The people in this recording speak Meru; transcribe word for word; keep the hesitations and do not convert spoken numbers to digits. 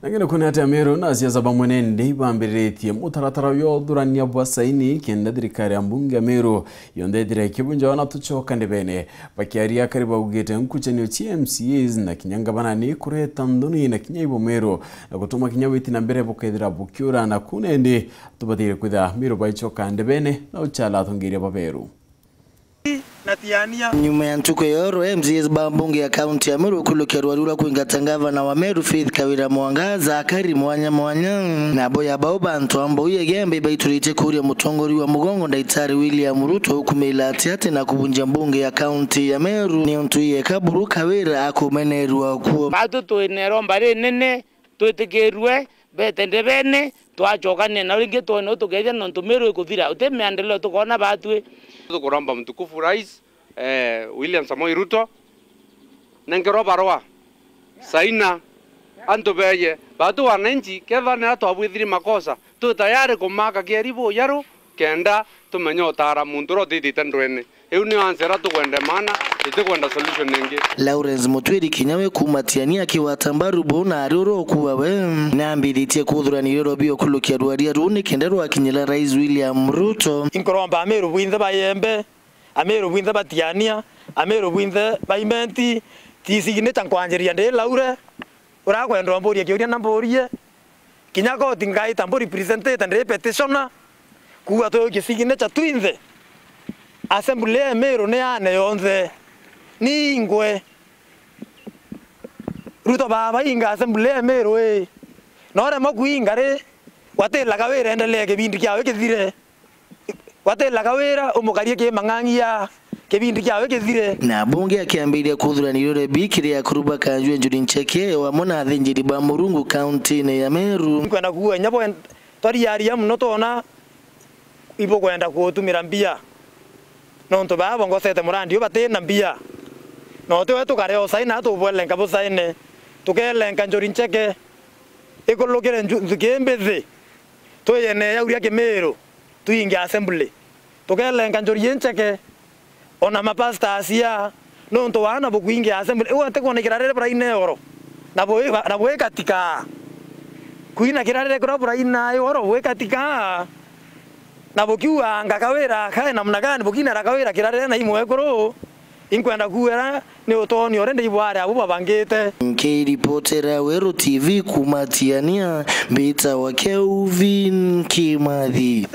Lakini kuna ati Ameru na asiasa bamwe nende ibambiritie mutaratara uyu uthurania bwa saini kenda thirikari ya mbunge ya Meru yonthe ithire ikibunjawa na tucoka ndebene. Bakiaria akari baugite nkuchanio cia M C As na kinya ngavana ni kureta nthoni na kinya ibo Meru na gutuma kinya witi na mbere bukethira bukiura na kunendi tubatire kwithira Meru baicoka ndebene na uchala atongeria baberu. Na Tiania. Nyuma ya ntuku ya oro, M C As ba mbunge ya kaunti ya Meru kulukia rwari rwa kwingata ngavana wa Meru Faith Kawira Mwangaza akari mwanya mwanya. Nabo ya bau bantu ambau ya Igembe baituritie kuria mutongoria wa mugongo Ndagitari William Ruto ukumila ati ati na kubunjia mbunge ya kaunti ya Meru ni untu yeka buru Kawira akumenerua kuo. Batu twinero mbari nene twitikirue bete ndebene, twacokania nao ringi twone u tukethia nontu Meru ikuthira, uti miendeleo tukona batwi. Tukuromba mtukufu Rais, eh, William Samoei Ruto, nenkerwa barua, saina, antu beye. Batu wananchi, kethira nira twabwithiri makosa, twi tayari kumaka kieri bujaru, kenda tumenye utara muntu uria utithite ndwene. Iu nio answer iria tukwenda maana, itikwenda solution ingi. Lawrence Mutwiri kinya we kuuma Tiania akigwata mbaru buu na ari uria ukuuga we, naambiritie kuthurania irio bio kulukia rwaria ruu ni kenda rwakinyira Rais William Ruto. Inkuromba Ameru bwinthe ba Igembe, Ameru bwinthe ba Tiania, Ameru bwinthe ba Imenti, ti signature nkwanjiria ndi Laure, urakwenda umburie kiuria na mburie. Kinya koti ngaita mbu representite ndi petitioner, kuuga twi gisignature twinthe. Assembly ya Meru ni yane yonthe. Ni ingwe. Ruto baba inga assembly ya Meru ii. Na uremwa kuinga ri, watila Kawira endelee kibindi kiawe kithire. Watila Kawira umukarie kimang'ang'ia kibindi kiawe kithire. Na bunge akiambiria kuthurania irio rebi kiri akuru ba Kanjwe Njuri Ncheke o amwe na athinjiri ba Murungu kaunti-ini ya Meru. Nkwenda kuuga inya bwe twariaria muno twona ibukwenda kuutumira mbia. Nontu baa bongosete murandi u batina mbia. Na utiwe tukare o saina tubwelenka busaine. Tukelenka Njuri Ncheke. Ikulukire nju-, nthuki mbithi. Twiyene yauria Kimiru. Twinge assembly. Tukelenka Njuri Ncheke, ona mapasta acia, nontu waana bukwinge assembly. Iu atikwona kirarire buraine oro. Na bwi-, na bwikatika. Kwina kirarire kuria buraina oro bwikatika. Na bukiuga ngakawira kae namna gani, bukinera kawira kirarire na imwekuru. Inkwenda kuuga ni utonio uria ndibware abo babangite. Nkiripotera Weru T V kuuma Tiania, mbitawa Kelvin Kimathi.